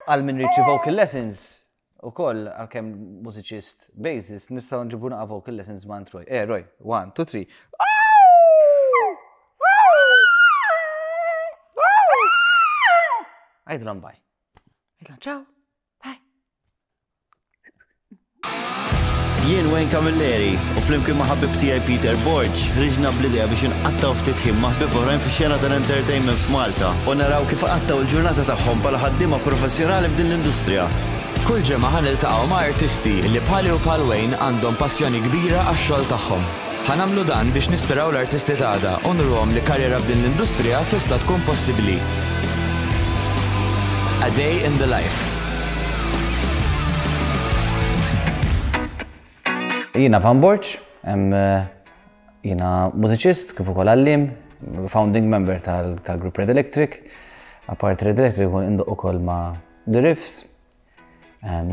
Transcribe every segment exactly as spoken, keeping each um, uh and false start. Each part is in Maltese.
Għal min irid xi vocal lessons, ukoll għalkemm mużiċist bassist, nistgħu nġibu naqa vocal lessons ma' Roy. Eh, Roy, one, two, three. Għidilhom bye. Għidilhom ciao. Bye. Jien Wayne Camilleri u flimkien ma' ħabib tiegħi Peter Borg ħriġna bl-idea biex inqattgħu ftit ħin ma' ħbieb oħrajn fix-xena tal-entertainment f'Malta u naraw kif qattgħu l-ġurnata tagħhom bħala ħaddiema professjonali f'din l-industrija. Kull ġimgħa ħa niltaqgħu ma' artisti li bħali u bħal Wayne għandhom passjoni kbira għax-xogħol tagħhom. Ħa nagħmlu dan biex nispiraw l-artisti t'għada u nuruhom li karriera f'din l-industrija tista' tkun possibbli. A Day in the Life. Jiena Van Borg, jiena mużiċist kif ukoll għalliem, founding member tal-grupp Red Electric. Apart Red Electric ukoll indoq ukoll ma' The Riffs,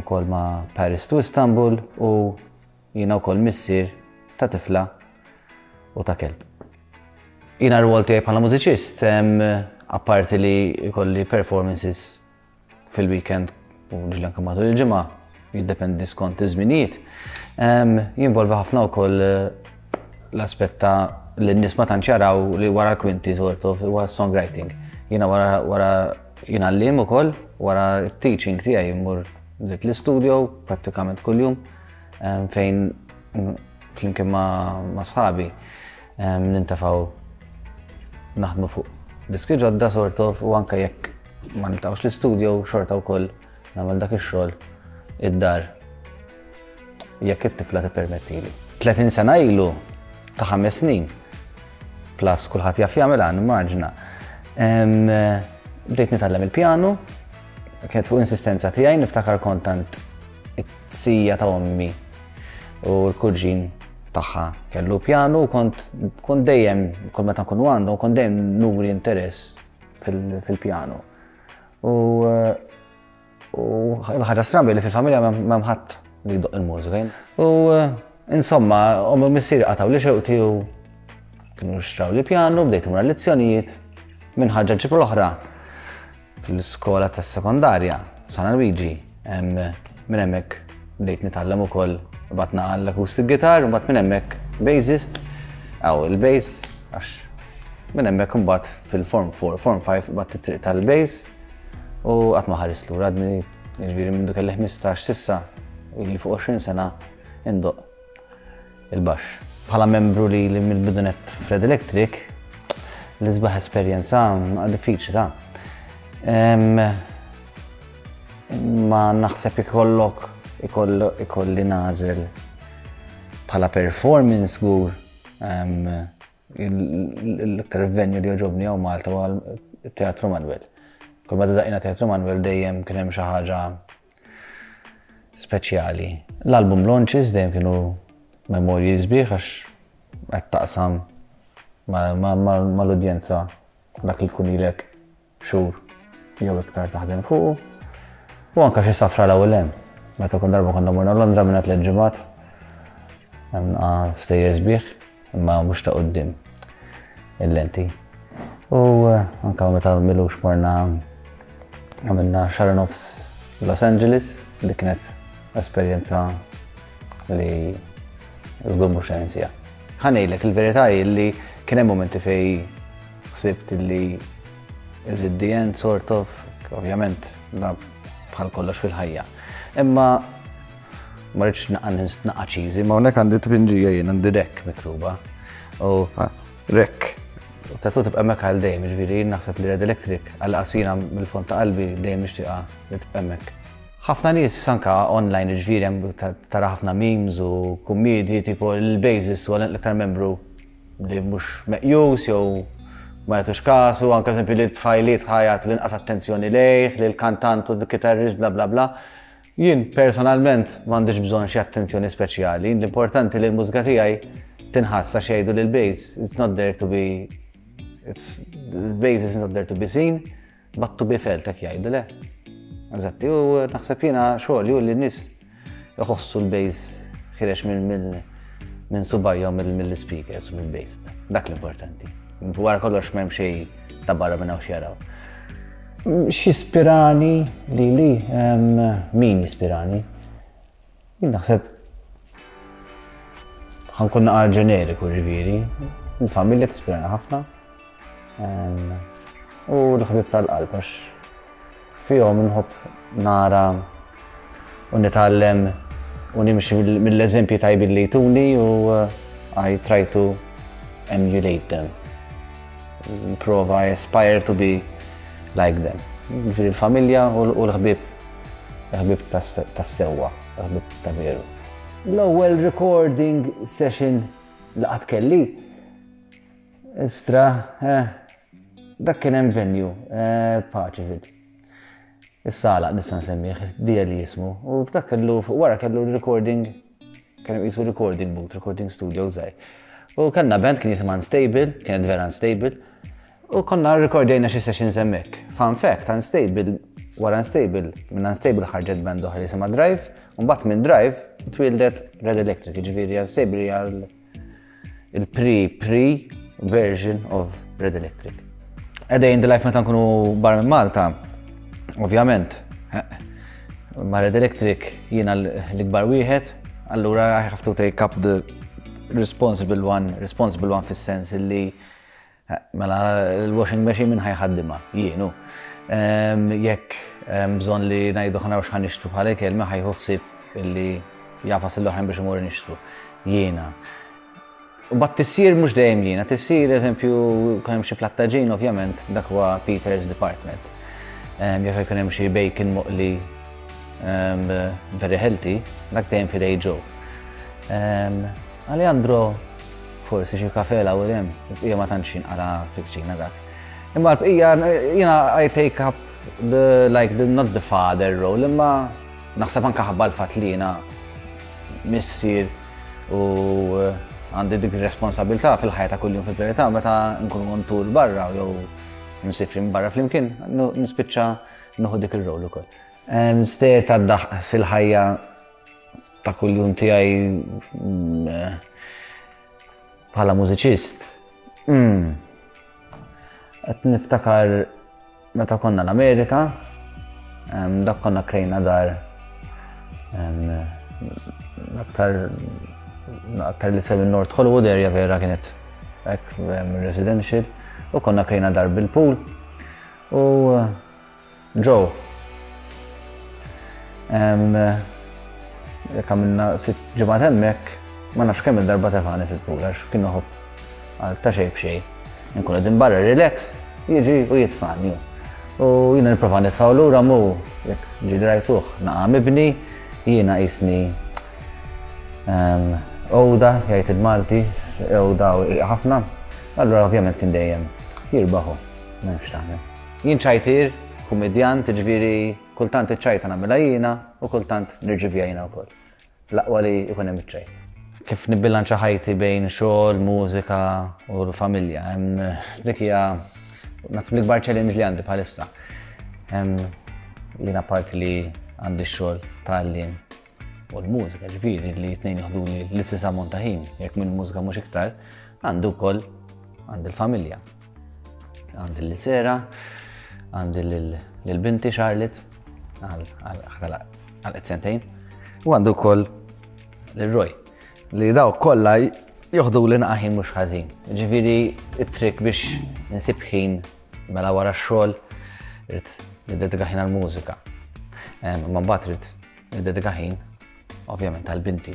ukoll ma' Paris to Istanbul u jiena wkoll missier ta' tifla u ta' kelb. Jiena r-rwol tiegħi bħala mużiċist, apparti li jkolli performances fil-weekend u ġieli anke matul il-ġimgħa, jiddependi skont iż-żminijiet. Jinvolvi ħafna wkoll l-aspett ta' li n-nies ma tantx jaraw li wara l-kwinti sort of huwa songwriting. Jiena wara wara jiena għalliem ukoll, wara t-teaching tiegħi mmur l-istudio prattikament kuljum fejn flimkien ma' sħabi nintefgħu naħdmu fuq diski ġodda sort of u anke jekk ma niltaqgħux l-istudio xorta wkoll nagħmel dak ix-xogħol id-dar jekk it-tifla tippermettili. tletin sena ilu ta' ħames snin plus kulħadd jaf jagħmilha nimmaġina. Bdejt nitgħallem il-pjanu, kienet fuq insistenza tiegħi niftakar kontant it-sija ta' ommi u l-kurġin tagħha kellu pjanu u kont kont dejjem kull meta nkunu għandhom kont dejjem nuri interess fil-pjanu. U u ħaġa strambi li fil-familja m'hemm ħadd li jdoqq il-mużika. U insomma, ommi u missieri qatgħu li xewqti u kienu xtraw li pjanu, bdejt imur lezzjonijiet minn ħaġa ġib l-oħra fl-iskola tas-sekondarja, San Luigi, minn hemmhekk bdejt nitgħallem ukoll batna għall-acoustic guitar, u mbagħad minn hemmhekk bassist, aw il-bass, għax minn hemmhekk imbagħad fil-form four, form five bat it-triq tal-bass u qatt ma ħares lura għadni jiġifieri minn kelli ħmistax sissa ili fuq għoxrin sena indoq il-baxx. Bħala membru li li mill-bidunet Fred Electric, l-isbaħ esperjenza diffiċli ta' ma naħseb ikollok ikolli nażel bħala performance żgur l-iktar venue li jogħġobni hawn Malta huwa t-Teatru Manuel. Kull meta daqqiena Teatru Manuel dejjem kien hemm xi ħaġa speċjali. L-album launches dejjem kienu memorji sbieħ għax qed taqsam mal-udjenza dak li tkun ilek xhur jew iktar taħdem fuqu. U anke xi safra l-ewwel hemm. Meta kun darba konna morna Londra minn tliet ġimgħat, hemm stejjer sbieħ, imma mhux ta' quddiem il-lenti. U anke meta milux morna għamilna xahar nofs Los Angeles, li kienet esperjenza li żgur mhux se ninsieha. Ħa ngħidlek il-verità hi li kien hemm momenti fejn ħsibt li is it the end sort of, ovvjament da bħal kollox fil-ħajja. Imma ma rridx naqa' cheesy, ma hawnhekk għandi tpinġija jien għandi rek miktuba. U rek. U tatu tibqa' hemmhekk għal dejjem, jiġifieri jien naħseb li Red Electric għal qasina mill-fond ta' qalbi dejjem nixtieqha li tibqa' hemmhekk. Ħafna nies anke online jiġifieri hemm tara ħafna memes u kummedji tipo il-bassist huwa l-iktar membru li mhux meqjus jew ma jagħtux kasu, anke eżempju li tfajliet ħajat l-inqas attenzjoni lejh, li l-kantant u l-kitarrist bla bla bla. Jien personalment m'għandix bżonn xi attenzjoni speċjali, l-importanti li l-mużika tiegħi tinħass għax jgħidu li l-bass it's not there to be it's the bass is not there to be seen, but to be felt hekk jgħidu le. Eżatti, u naħseb jiena xogħol ju li n-nies iħossu l-bass ħirex minn minn subajhom mill-speakers u mill-bass. Dak l-importanti. Wara kollox m'hemm xejn ta' barra minn hawn x'jaraw. X'ispirani li li, min jispirani? Jien naħseb ħa nkun naqra ġeneriku, ġifieri. Il-familja tispirani ħafna. U l-ħbib tal-qalb, għax fihom nħobb nara u nitgħallem u nimxi mill-eżempji tajbin li jtuni u I try to emulate them. Prova, I aspire to be like them. Ġifieri l-familja u l-ħbib, l-ħbib tas-sewwa, l-ħbib ta' veru. L-ewwel recording session li qatt kelli, istra, eh, dak kien hemm venue, eh, Paceville. Is-sala nista' nsemmih, dija li jismu. U f'dak kellu, wara kellu recording, kien jisu recording booth, recording studio żgħir. U kellna band kien jisimha Unstable, kienet vera unstable. U konna rekordjajna xi sessions hemmhekk. Fun fact, Unstable, wara Unstable, minn Unstable ħarġet band oħra li jisimha Drive, u mbagħad minn Drive twildet Red Electric, ġifieri Unstable hija il-pre-pre version of Red Electric. A day in the life meta nkunu barra minn Malta, ovvjament, ma' Red Electric jiena l-ikbar wieħed, allura I have to take up the responsible one, responsible one fis-sens illi mela l-washing machine min ħa jħaddimha, jienu. Jekk bżonn li ngħidu ħa naraw x'ħa nixtru bħala ikel, min ħa jieħu ħsieb illi jagħfas l-oħrajn biex imorru nixtru. Jiena. U bat tisjir mhux dejjem jiena, tisjir eżempju kien hemm xi platt tagħġin, ovvjament dak huwa Peter's Department. Jekk ikun hemm xi bacon moqli very healthy, dak dejjem f'idej Joe. Alejandro forsi xi kafe u hemm, il-bqija ma tantx jinqala fil-kċina dak. Imma l-bqija jiena I take up the like the not the father role, imma naħseb anke ħabba l-fatt li jiena missier u għandi dik responsabilità fil-ħajja ta' kuljum. Fil-verità, meta nkunu on tour barra jew nsifrin barra flimkien, nispiċċa nieħu dik ir-rol ukoll. Stejjer ta' daħk fil-ħajja ta' kuljum tiegħi bħala mużiċist. Qed niftakar meta konna l-Amerika, dak konna krejna dar aktar aktar li sew North Hollywood area, vera kienet hekk residential, u konna krejna dar bil-pool u Joe jekk għamilna sitt ġimgħat hemmhekk, ma nafx kemm il-darba tefani fil-pool għax kien iħobb għal ta' xejn b'xejn. Nkun qegħdin barra relax, jiġi u jitfani. U jiena nipprova nitfgħu lura mu jekk ġieli rajtuh naqa' mibni, jiena qisni għoda, jgħid il-Malti, għoda ħafna. Allura ovvjament kien dejjem jirbaħu, m'hemmx tagħmel. Jien ċajtir, kummedjant, ġifieri kultant iċ-ċajta nagħmilha jiena u kultant nirċivija jiena wkoll. L-aqwa li jkun hemm iċ-ċajt. Kif nibbilanċa ħajti bejn xogħol, mużika u l-familja? Dik hija naħseb l-ikbar challenge li għandi bħalissa. Jiena parti li għandi x-xogħol tal-lin u l-mużika, ġifieri li tnejn jieħdu li l-istess ammont ta' ħin, jekk minn mużika mhux iktar, għandu wkoll għandi l-familja. Għandi l-Sera, għandi l-binti Charlotte, għal sentejn, u għandu wkoll l-Roy, li daw kollha joħdu li naqa' ħin mhux ħażin. Ġifieri it-trick biex insib ħin, mela wara x-xogħol irrid niddedika ħin għall-mużika. Ma mbagħad irid niddedika ħin ovvjament għal-binti,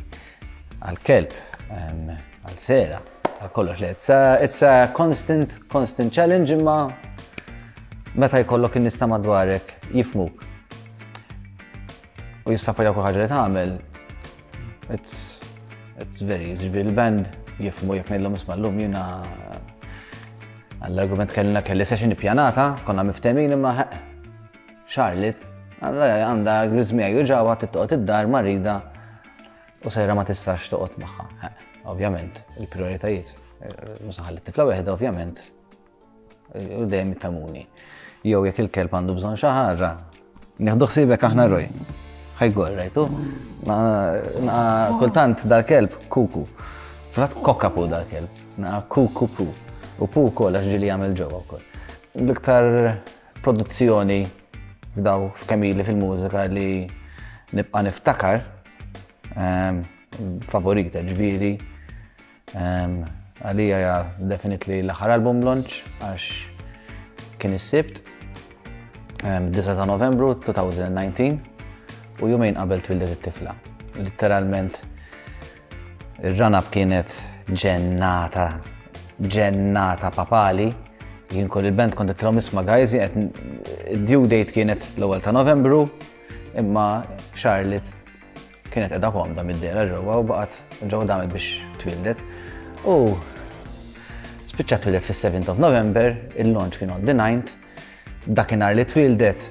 għal-kelb, għal-Sera, għal kollox li. It's a, it's a constant, constant challenge, imma meta jkollok in-nies ta' madwarek jifhmuk u jissapporjaw kull ħaġa li tagħmel, it's, it's very easy. Ġifieri il-band jifhmu jekk ngħidlhom, "Isma', llum jiena għall-argument kellna kelli session ippjanata, konna miftemin, imma Charlotte għandha griżmija juġgħuha, toqgħod id-dar marida u Sera ma tistax toqgħod magħha." Ovvjament, il-prioritajiet. Mhux ħalli t-tifla waħda, ovvjament, u dejjem jifhmuni. Jew jekk il-kelb għandu bżonn xi ħaġa, nieħdu ħsiebek aħna, Roy. Ħa jgorr, rajtu? Kultant dal-kelb kuku. Frat cockapoo dal-kelb. Naqa kuku pu. U pu kol għax ġieli jagħmel ġewwa wkoll. L-iktar produzzjoni f'daw f'kemm ili fil-mużika li nibqa' niftakar, ehm, favorita ġifieri, ehm, għalija ja definitely l-aħħar album launch, għax kien is-Sibt, ehm, disgħa ta' Novembru elfejn u dsatax, u jumejn qabel twildet it-tifla. Literalment ir-run-up kienet ġennata, ġennata papali. Jien kull il-band kont għedtilhom, "Isma' guys, due date kienet l-ewwel ta' Novembru, imma Charlotte kienet qiegħda komda mid-dehra ġewwa u baqgħet ġewwa damet biex twildet." U spiċċat twildet fis-seventh of November, il-launch kien on the ninth, dakinhar li twildet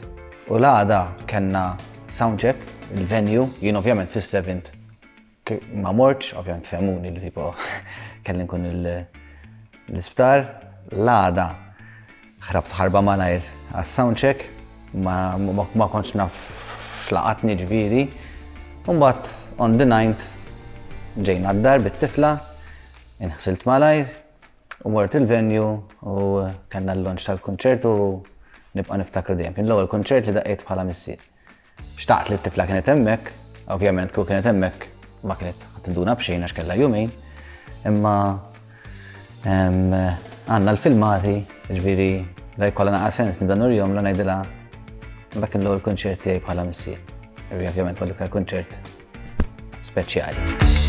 u l-għada kellna soundcheck, il-venue, jien ovvjament fis-seventh ma mortx, ovvjament fehmuni li tipo kelli nkun l-isptar, l-għada ħrabt ħarba malajr għas-soundcheck, ma, ma, ma kontx naf x'laqatni ġifieri. Mbagħad on the ninth ġejna d-dar bit-tifla, inħsilt malajr, u mort il-venue u kellna l-launch tal-konċert u nibqa' niftakru dejjem. Kien l-ewwel konċert li daqqejt bħala missier. Xtaqt li t-tifla kienet hemmhekk, ovvjament kieku kienet hemmhekk ma kienet tinduna b'xejn għax kellha jumejn, imma għandna l-filmati, ġifieri la jkollha naqa sens nibda nurihom la ngħidilha dak l-ewwel kunċert tiegħi bħala missier. Ovvjament huwa l-iktar kunċert speċjali.